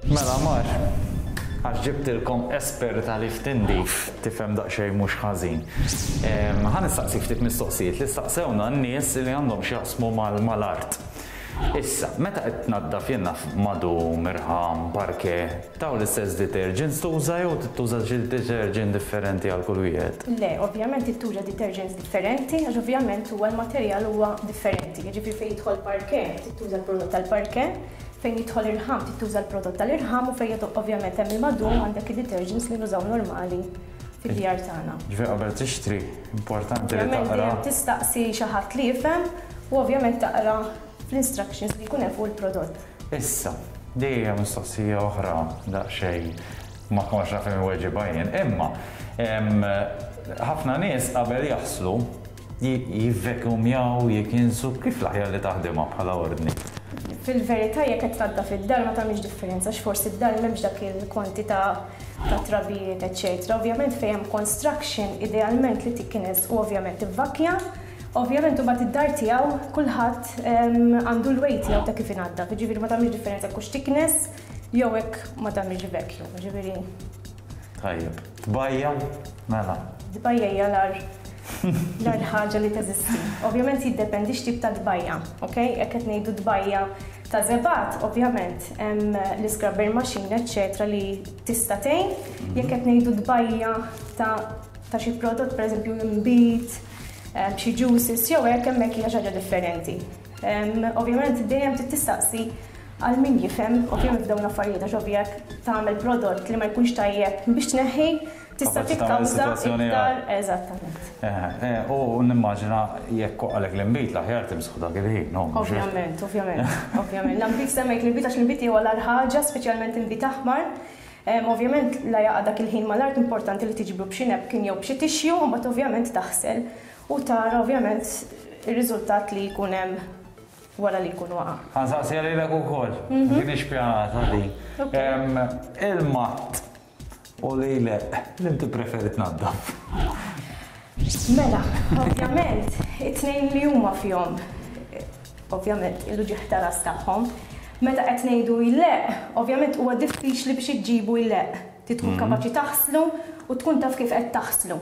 Mela mar, għax ġibtilkom esperta li f'tindif tifhem daqsxejn mhux ħażin. Ħa nistaqsik ftit mistoqsijiet li staqsewna n-nies li għandhom x'jaqsmu mal-art. Issa, meta qed tnaddaf jien naf madum, irħam, parquet, dawn l-istess detergents tuża jew trid tuża xi detergent differenti għal kull wieħed? Le, ovvjament trid tuża detergents differenti għax ovvjament huwa l-materjal huwa differenti. Jiġifieri fejn jidħol parquet trid tuża l-prodott tal-parquet, Fejn jidħol irħam trid tuża l-prodott tal-irħam u fejn ovvjament hemm il-madum għandek id-detergents li nużaw normali fid-djar tagħna. Ġifieri qabel tixtri, importanti li taqra. Ovvjament dejjem tistaqsi xi ħadd li jifhem u ovvjament taqra fl-instructions li jkun hemm fuq il-prodott. Issa, din hija mistoqsija oħra daqsxejn ma kontx naf inweġibha jien, imma ħafna nies qabel jaħslu Jivvekumjaw, jikinsu, kif l-aħjar li taħdimha bħala ordni? Fil-verità jekk qed tnaddaf id-dar ma tagħmilx differenza għax forsi d-dar m'hemmx dak il-kwantità ta' trabijiet eċċetera. Ovvjament fejn hemm construction idealment li tiknes u ovvjament tivvakkja. Ovvjament imbagħad id-dar tiegħu kulħadd għandu l-way tiegħu ta' kif inaddaf, jiġifieri ma tagħmilx differenza jekk hux tiknes jew hekk ma tagħmilx vacuum, jiġifieri. Tajjeb. Tbajja? Mela. Tbajja hija l-agħar l-agħar ħaġa li teżisti. Ovvjament jiddependi x'tip ta' tbajja, ok? Jekk qed ngħidu tbajja ta' żebgħat, ovvjament hemm l-iscrubber machine eċċetera li tista' tgħin. Jekk qed ngħidu tbajja ta' ta' xi prodott pereżempju inbid, xi juices jew hekk hemmhekk hija xi ħaġa differenti. Ovvjament dejjem trid tistaqsi għal min jifhem, ovvjament f'dawn l-affarijiet għax ovvja jekk tagħmel prodott li ma jkunx tajjeb biex tneħħi, tista' tikkawża iktar eżattament. U nimmaġina jekk waqgħalek l-inbid l-aħjar timsħu dak il-ħin, no? Ovvjament, ovvjament, ovvjament. L-inbid semmejt l-inbid għax l-inbid huwa l-agħar ħaġa, speċjalment inbid aħmar. Ovvjament la jaqa' dak il-ħin mal-art importanti li tiġbru b'xi napkin jew b'xi tissue u mbagħad ovvjament taħsel u tara ovvjament ir-riżultat li jkun hemm wara li jkun waqa'. Ħa nsaqsiha lilek ukoll. M'kienx pjanata din. Il-matt u l-ileq, liem tippreferi tnaddaf? Mela, ovvjament, it-tnejn li huma fihom ovvjament il-uġigħ ta' ras tagħhom. Meta qed ngħidu jleqq, ovvjament huwa diffiċli biex iġġibu jleqq. Trid tkun kapaċi taħslu u tkun taf kif qed taħslu.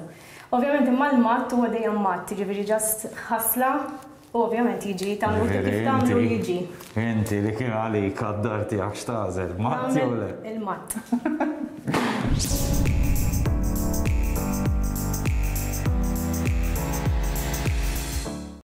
Ovvjament imma l-matt huwa dejjem matt, jiġifieri just ħasla u ovvjament jiġi tagħmlu inti kif tagħmlu jiġi. Inti li kien għalik għad-dar tiegħek x'tagħżel, matt jew le? Il-matt.